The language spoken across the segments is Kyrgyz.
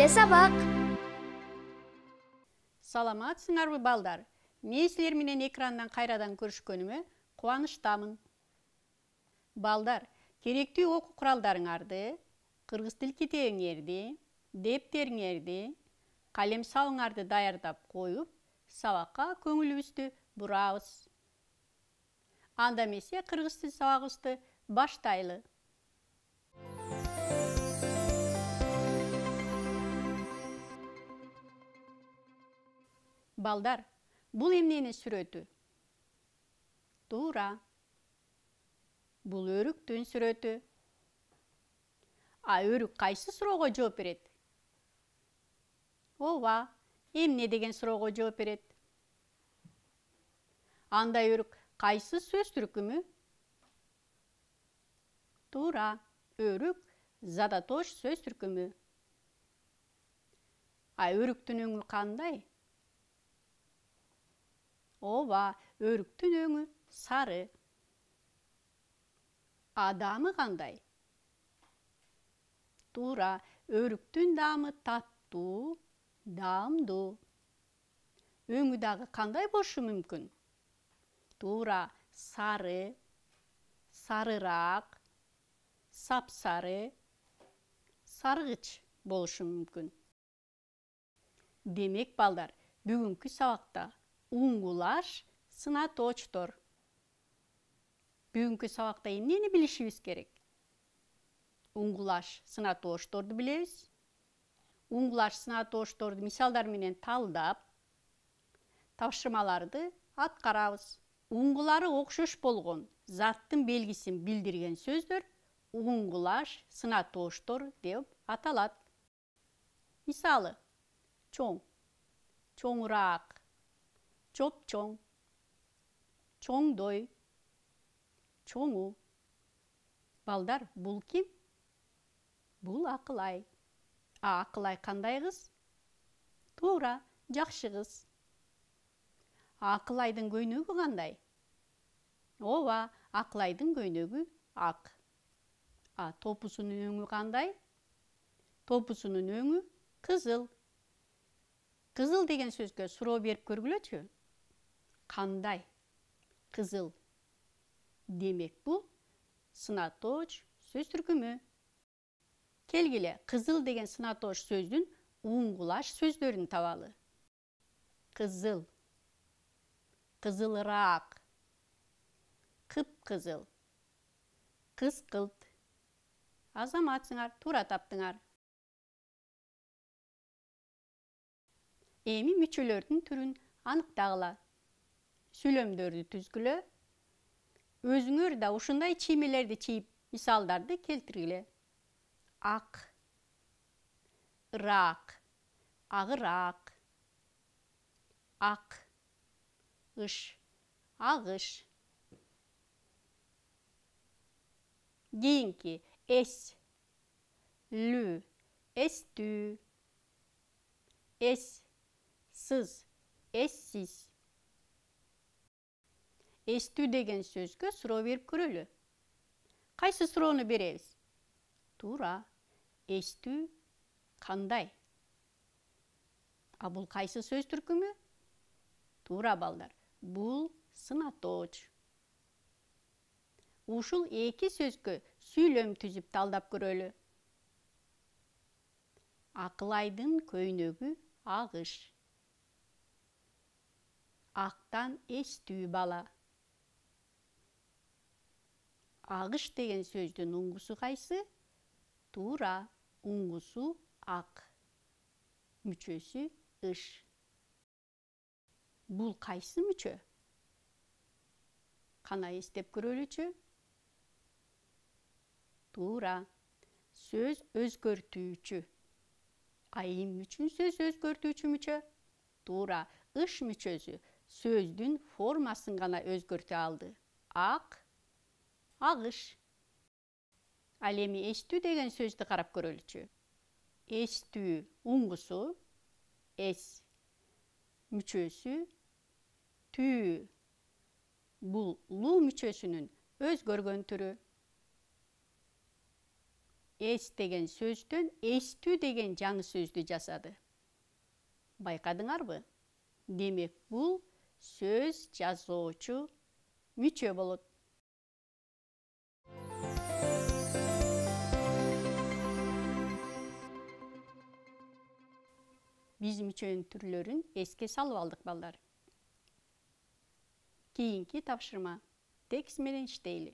Келе сабак. Саламатсыңарбы балдар? Мен силер менен экрандан кайрадан көрүшкөнүмө кубанычтамын. Балдар, керектүү окуу куралдарыңарды, кыргыз тил китебиңерди, дептериңерди, калем сабыңарды даярдап коюп, сабакка көңүлүбүздү бурабыз. Анда эмесе кыргыз тил сабагыбызды баштайлы. Балдар, бул эмненин сүрөтү? Туура. Бул өрүктүн сүрөтү. А өрүк кайсы суроого жооп берет? Ооба, эмне деген суроого жооп берет? Анда өрүк кайсы сөз түркүмү? Туура, өрүк задатош сөз түркүмү. А өрүктүн өңү кандай? Ооба, өрүктүн өңү сары. А даамы кандай? Туура, өрүктүн даамы таттуу, даамдуу. Өңү дагы кандай болушу мүмкүн? Туура, сары, сарыраак, сапсары, саргыч болушу мүмкүн. Демек, балдар, бүгүнкү сабакта уңгулаш, сынаточтор. Бүгүнкү сабакта эмнени билишибиз керек? Уңгулаш, сынаточторду билебиз. Уңгулаш, сынаточторду мисалдар менен талдап, тапшырмаларды аткарабыз. Уңгулары окшош болгон заттын белгисин билдирген сөздөр уңгулаш, сынаточтор деп аталат. Мисалы: чоң, чоңураак, чоп-чоң, чоңдой, чоңу. Балдар, бул ким? Бул Акылай. А Акылай кандай кыз? Туура, жакшы кыз. Акылайдын көйнөгү кандай? Ооба, Акылайдын көйнөгү ак. А топусунун өңү кандай? Топусунун өңү кызыл. Кызыл деген сөзгө суроо берип көргүлөчү. Кандай? Кызыл. Демек, бул сынаточ сөз түркүмү. Келгиле, кызыл деген сынаточ сөздүн уңгулаш сөздөрүн табалы. Кызыл, кызылыраак, кыпкызыл, кызкылт. Азаматсыңар, туура таптыңар. Эми мүчөлөрдүн түрүн аныктагыла. Сүйлөмдөрдү түзгүлө. Өзүңөр да ушундай чиймелерди чийип, мисалдарды келтиргиле. Ак, ыраак, агыраак, ак, ыш, агыш. Кийинки: эс, лүү, эстүү, эс, сыз, эссиз. Эстүү деген сөзгө суроо берип көрөлү. Кайсы суроону беребиз? Туура, эстүү кандай? А бул кайсы сөз түркүмү? Туура, балдар, бул сынаточ. Ушул эки сөзгө сүйлөм түзүп талдап көрөлү. Акылайдын көйнөгү агыш. Актан эстүү бала. Агыш деген сөздүн уңгусу кайсы? Туура, уңгусу ак. Мүчөсү ыш. Бул кайсы мүчө? Кана эстеп көрөлүчү. Туура, сөз өзгөртүүчү. А эмне үчүн сөз өзгөртүүчү мүчө? Туура, ыш мүчөсү сөздүн формасын гана өзгөртө алды. Ак, агыш. Ал эми эстүү деген сөздү карап көрөлүчү. Эстүү уңгусу, эс мүчөсү, түү. Бул луу мүчөсүнүн өзгөргөн түрү. эс деген сөздөн эстүү деген жаңы сөздү жасады. Байкадыңарбы? Демек, бул сөз жазуучу мүчө болот. Биз мүчөнүн түрлөрүн эске салып алдык балдар. Кийинки тапшырма. Текст менен иштейли.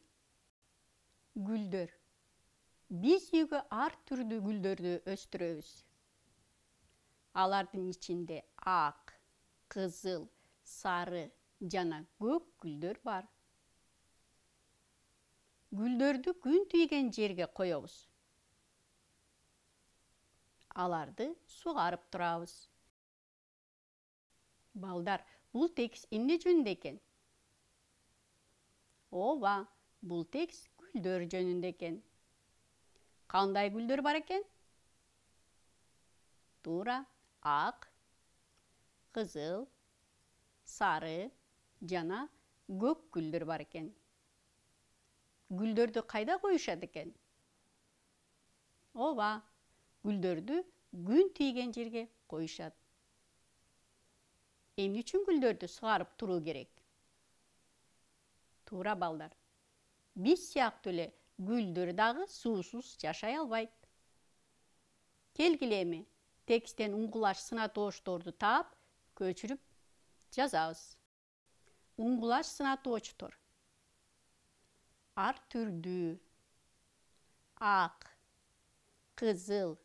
Гүлдөр. Биз үйгө ар түрдүү гүлдөрдү өстүрөбүз. Алардын ичинде ак, кызыл, сары жана көк гүлдөр бар. Гүлдөрдү күн тийген жерге коебуз. Аларды сугарып турабыз. Балдар, бул текст эмне жөнүндө экен? Ооба, бул текст гүлдөр жөнүндө экен. Кандай гүлдөр бар экен? Туура, ак, кызыл, сары жана көк гүлдөр бар экен. Гүлдөрдү кайда коюшат экен? Ооба, гүлдөрдү күн тийген жерге коюшат. Эмне үчүн гүлдөрдү сугарып туруу керек? Туура балдар. Биз сыяктуу эле гүлдөр дагы суусуз жашай албайт. Келгиле эми тексттен уңгулаш сына тоошторду таап, көчүрүп жазабыз. Уңгулаш сына тооштор. Ар түрдүү, ак, кызыл,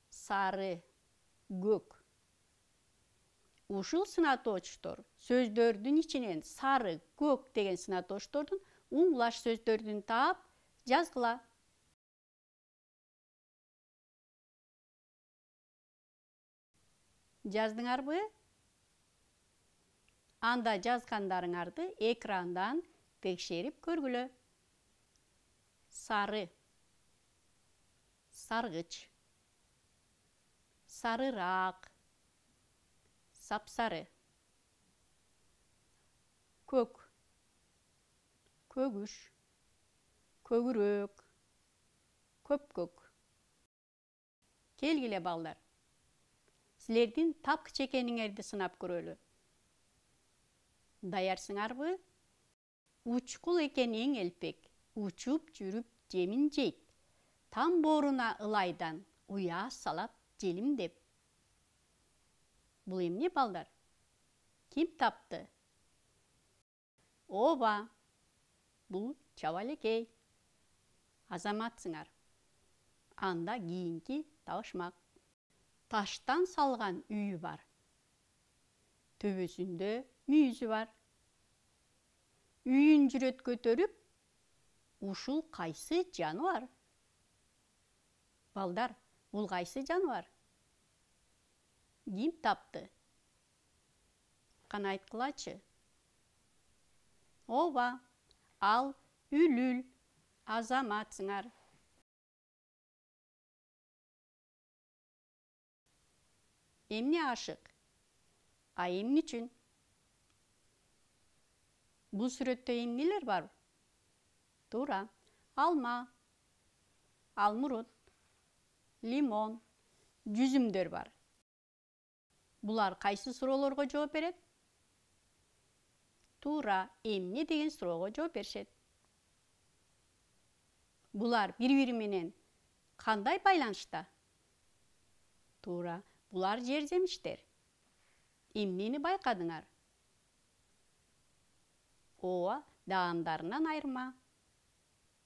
сары, көк. Ушул сына тооштор сөздөрдүн ичинен сары, көк деген сына тооштордун уңгулаш сөздөрдүн таап жазгыла. Жаздыңарбы? Анда жазгандарыңарды экрандан текшерип көргүлө. Сары, саргыч, сарыраак, сапсары. Көк, көгүш, көгүрөөк, көпкөк. Келгиле балдар. Силердин тапкыч экениңерди сынап көрөлү. Даярсыңарбы? Учкул экен эң элпек, учуп жүрүп жемин жейт. Там бооруна ылайдан, уя салат желимдеп. Бул эмне балдар? Ким тапты? Ооба, бул чабалекей. Азаматсыңар. Анда кийинки табышмак. Таштан салган үйү бар. Төбөсүндө мүйүзү бар. Үйүн жүрөт көтөрүп, ушул кайсы жаныбар? Балдар, бул кайсы жаныбар? Ким тапты? Кана айткылачы. Ооба, ал үлүл. Азаматсыңар. Эмне ашык? А эмне үчүн? Бул сүрөттө эмнелер бар? Туура. Алма, алмурут, лимон, жүзүмдөр бар. Булар кайсы суроолорго жооп берет? Туура, эмне деген суроого жооп беришет. Булар бири-бири менен кандай байланышта? Туура, булар жер жемиштер. Эмнени байкадыңар? Ооба, даамдарынан айырма.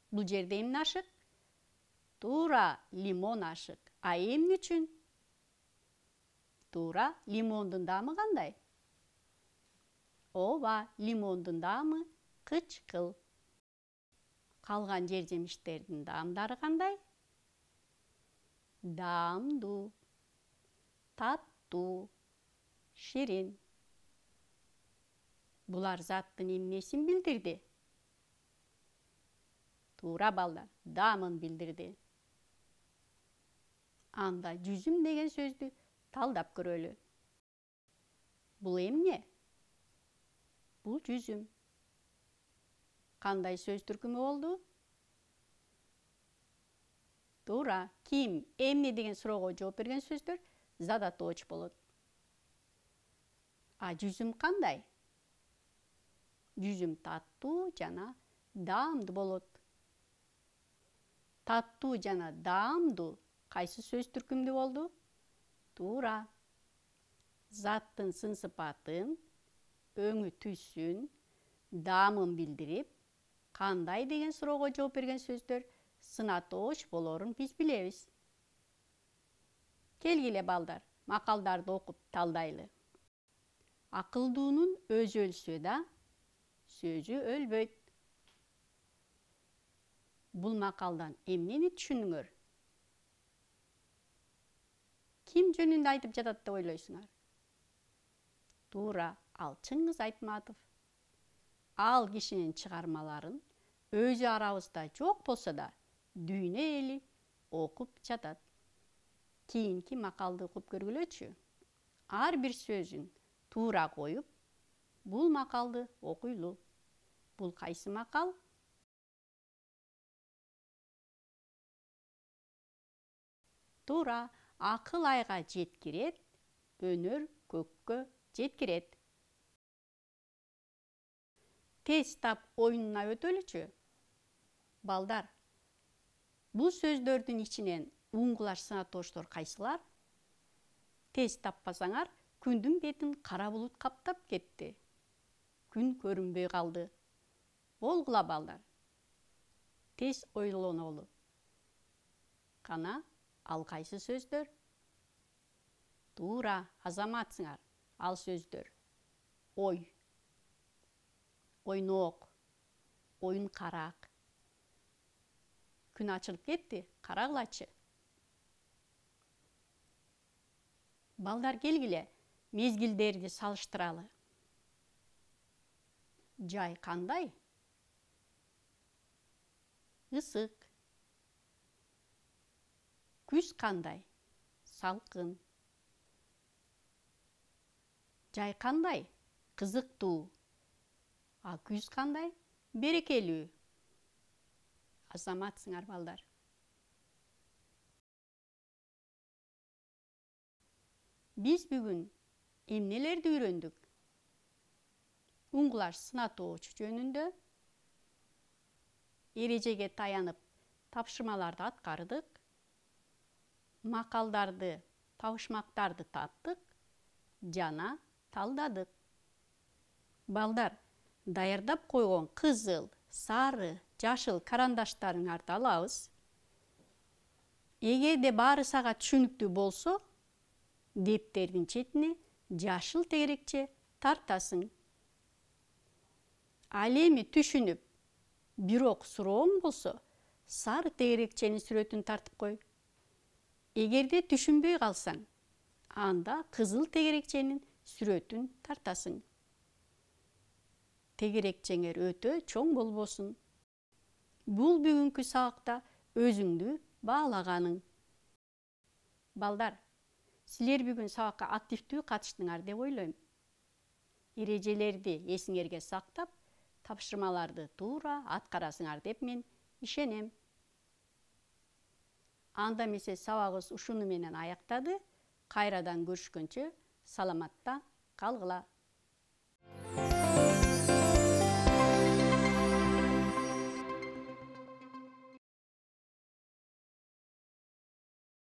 Бул жерде эмне ашык? Туура, лимон ашык. А эмне үчүн? Туура, лимондун даамы кандай? Ооба, лимондун даамы кычкыл. Калган жер жемиштердин даамдары кандай? Даамдуу, таттуу, ширин. Булар заттын эмнесин билдирди? Туура балдар, даамын билдирди. Анда жүзүм деген сөздү талдап көрөлү. Бул эмне? Бул жүзүм. Кандай сөз түркүмү болду? Туура. Ким, эмне деген суроого жооп берген сөздөр задатооч болот. А жүзүм кандай? Жүзүм таттуу жана даамдуу болот. Таттуу жана даамдуу кайсы сөз түркүмдүү болду? Туура. Заттын сын-сыпатын, өңү түсүн, даамын билдирип, кандай деген суроого жооп берген сөздөр сынатооч болоорун биз билебиз. Келгиле балдар, макалдарды окуп талдайлы. Акылдуунун өзү өлсө да, сөзү өлбөйт. Бул макалдан эмнени түшүндүңөр? Ким жөнүндө айтып жатат деп ойлойсуңар? Туура, ал Чыңгыз Айтматов. Ал кишинин чыгармаларын өзү арабызда жок болсо да, дүйнө эли окуп жатат. Кийинки макалды окуп көргүлөчү. Ар бир сөзүн туура коюп, бул макалды окуйлу. Бул кайсы макал? Туура, акыл айга жеткирет, өнөр көккө жеткирет. Тез тап оюнуна өтөлүчү. Балдар, бул сөздөрдүн ичинен уңгулаш сынатоочтор кайсылар? Тез таппасаңар, күндүн бетин кара булут каптап кетти. Күн көрүнбөй калды. Болгула балдар. Тез ойлонолу. Кана, ал кайсы сөздөр? Туура, азаматсыңар. Ал сөздөр: ой, ойнок, оюн карак. Күн ачылып кетти, карагылачы. Балдар, келгиле, мезгилдерди салыштыралы. Жай кандай? Ысык. Күз кандай? Салкын. Жай кандай? Кызыктуу. А күз кандай? Берекелүү. Азаматсыңар балдар. Биз бүгүн эмнелерди үйрөндүк? Уңгулаш сынатооч жөнүндө, эрежеге таянып тапшырмаларды аткардык, макалдарды, табышмактарды таптык жана талдадык. Балдар, даярдап койгон кызыл, сары, жашыл карандаштарыңарды алабыз. Эгерде баары сага түшүнүктүү болсо, дептердин четине жашыл тегерекче тартасың. Ал эми түшүнүп, бирок сурооң болсо, сары тегерекченин сүрөтүн тартып кой. Эгерде түшүнбөй калсаң, анда кызыл тегерекченин сүрөтүн тартасың. Тегерекчеңер өтө чоң болбосун. Бул бүгүнкү сабакта өзүңдү баалаганың. Балдар, силер бүгүн сабакка активдүү катыштыңар деп ойлойм. Эрежелерди эсиңерге сактап, тапшырмаларды туура аткарасыңар деп мен ишенем. Анда эмесе сабагыбыз ушуну менен аяктады. Кайрадан көрүшкөнчө саламатта калгыла.